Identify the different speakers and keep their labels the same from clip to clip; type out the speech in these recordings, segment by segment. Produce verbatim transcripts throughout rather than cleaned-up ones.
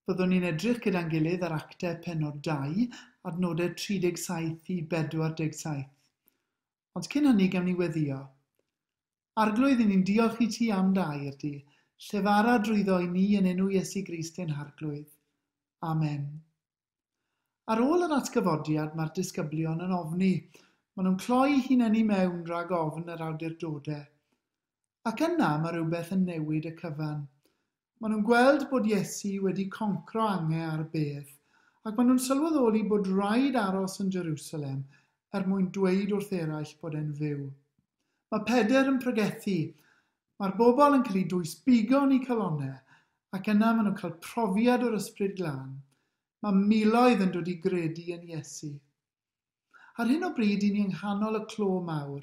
Speaker 1: Byddwn ni'n edrych gyda'n gilydd ar Actau pennod dau, adnodau tri deg saith i bedwar deg saith. Ond cyn hynny gawn ni weddïo. Arglwydd, i ni'n diolch i ti am dy air di, llefara drwyddo i ni yn enw Iesu Grist ein Harglwydd. Amen. Ar ôl yr atgyfodiad, mae'r disgyblion yn ofni. Maen nhw'n cloi hunain i mewn rhag ofn yr awdurdodau. Ac yna mae rhywbeth yn newid y cyfan. Maen nhw'n gweld bod Iesu wedi concro angau ar y bedd, ac maen nhw'n sylweddoli bod rhaid aros yn Jerusalem er mwyn dweud wrth eraill bod e'n fyw. Mae Pedr yn pregethu, mae'r bobl yn cael eu dwysbigo yn eu calonnau, ac yna maen nhw'n cael profiad o'r Ysbryd Glân. Mae miloedd yn dod i gredu yn Iesu. Ar hyn o bryd, i ni yng nghanol y clo mawr,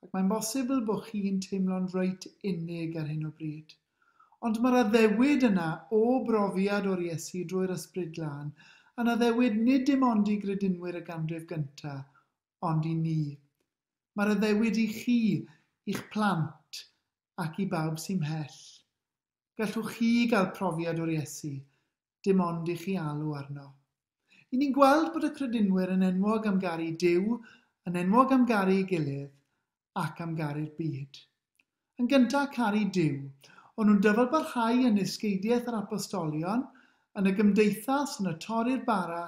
Speaker 1: ac mae'n bosibl bod chi'n teimlo'n reit unig ar hyn o bryd. Ond mae'r addewid yna o brofiad o'r Iesu drwy'r Ysbryd Glân, yn addewid nid dim ond i gredinwyr y ganrif gyntaf, ond i ni. Mae'r addewid i chi, i'ch plant, ac i bawb sy'n mhell. Gallwch chi gael profiad o'r Iesu, dim ond i chi alw arno. I ni'n gweld bod y credinwyr yn enwog am garu Duw, yn enwog am garu ei gilydd, ac am garu'r byd. Yn gyntaf, caru Duw. O'n nhw'n dyfalbarhau yn ysgeidiaeth yr apostolion, yn y gymdeithas, yn y torri'r bara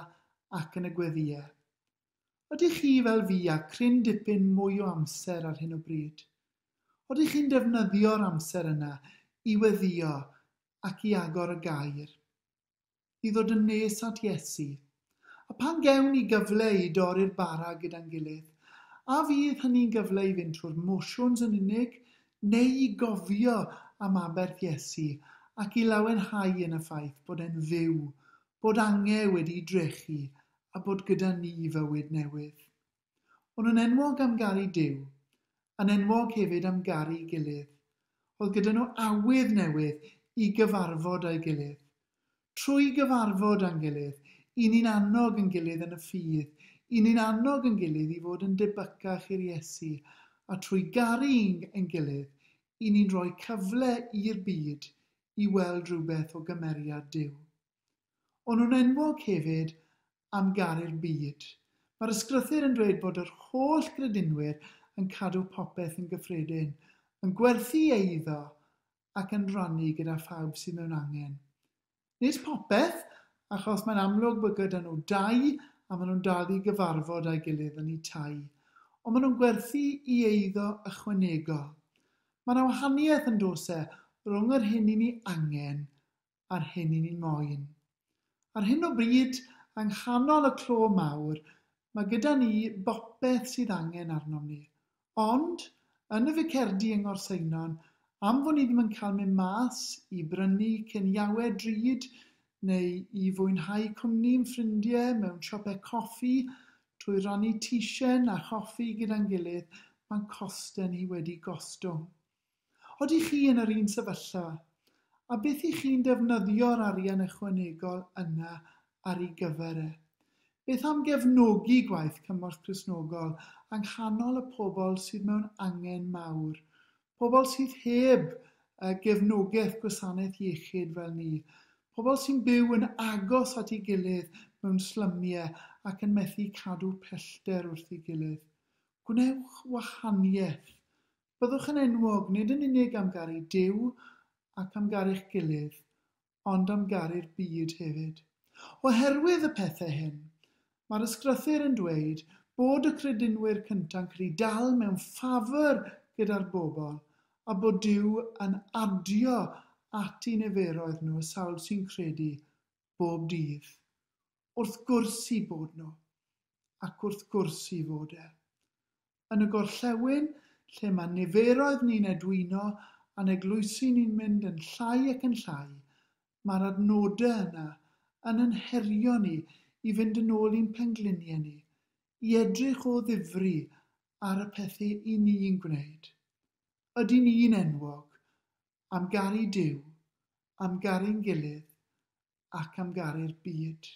Speaker 1: ac yn y gweddïau. Ydych chi fel fi a cryn dipyn mwy o amser ar hyn o bryd? Ydych chi'n defnyddio'r amser yna i weddïo ac i agor y gair? I ddod yn nes at Iesu? A pan gewn ni gyfle i dorri'r bara gyda'n gilydd, a fydd hynny'n gyfle i fynd trwy'r mosiwns yn unig, neu i gofio am aberth Iesu ac i lawenhau yn y ffaith bod e'n fyw, bod angau wedi drechu a bod gyda ni fywyd newydd. O'n nhw'n enwog am garu Duw, yn enwog hefyd am garu gilydd. Oedd gyda nhw awydd newydd i gyfarfod â'i gilydd. Trwy gyfarfod â'n gilydd, i ni'n annog yn gilydd yn y ffydd, i ni'n annog yn gilydd i fod yn debycach i'r Iesu, a trwy garu yn gilydd, i ni'n rhoi cyfle i'r byd i weld rhywbeth o gymeriad Duw. O'n nhw'n enwog hefyd am garu'r byd. Mae'r ysgrythur yn dweud bod yr holl gredinwyr yn cadw popeth yn gyffredin, yn gwerthu eiddo ac yn rhannu gyda phawb sydd mewn angen. Nid popeth, achos mae'n amlwg bod gyda nhw dau a maen nhw'n dal i gyfarfod â'i gilydd yn eu tai, ond maen nhw'n gwerthu i eiddo ychwanegol. Mae yna wahaniaeth yn does e rhwng yr hyn i ni angen a'r hyn i ni'n moyn. Ar hyn o bryd, yng nghanol y clo mawr, mae gyda ni bopeth sydd angen arnom ni. Ond, yn y ficerdi yng Ngorseinon, am fod ni ddim yn cael mynd mas i brynu ciniawau drud neu i fwynhau cwmni'n ffrindiau mewn siopau coffi trwy rannu teisen a choffi gyda'n gilydd, mae'n costau ni wedi gostwng. Oeddech chi yn yr un sefyllfa? A beth i chi'n defnyddio'r arian ychwanegol yna ar ei gyfer e? Beth am gefnogi gwaith Cymorth Cristnogol yng nghanol y pobl sydd mewn angen mawr? Pobl sydd heb gefnogaeth gwasanaeth iechyd fel ni. Pobl sy'n byw yn agos at ei gilydd mewn slymiau ac yn methu cadw pellter wrth ei gilydd. Gwnewch wahaniaeth. Byddwch yn enwog nid yn unig am garu Duw ac am garu'ch gilydd, ond am garu'r byd hefyd. Oherwydd y pethau hyn, mae'r ysgrythur yn dweud bod y credinwyr cynta'n cael eu dal mewn ffafr gyda'r bobl a bod Duw yn adio at eu niferoedd nhw y sawl sy'n credu bob dydd. Wrth gwrs i bod nhw, ac wrth gwrs i fod e. Yn y gorllewin, lle mae niferoedd ni'n edwino a'n eglwysi ni'n mynd yn llai ac yn llai, mae'r adnodau yna yn yn herio ni i fynd yn ôl i'n pengliniau ni, i edrych o ddifri ar y pethau i ni'n gwneud. Ydy ni'n enwog am garu Duw, am garu'n gilydd ac am garu'r byd?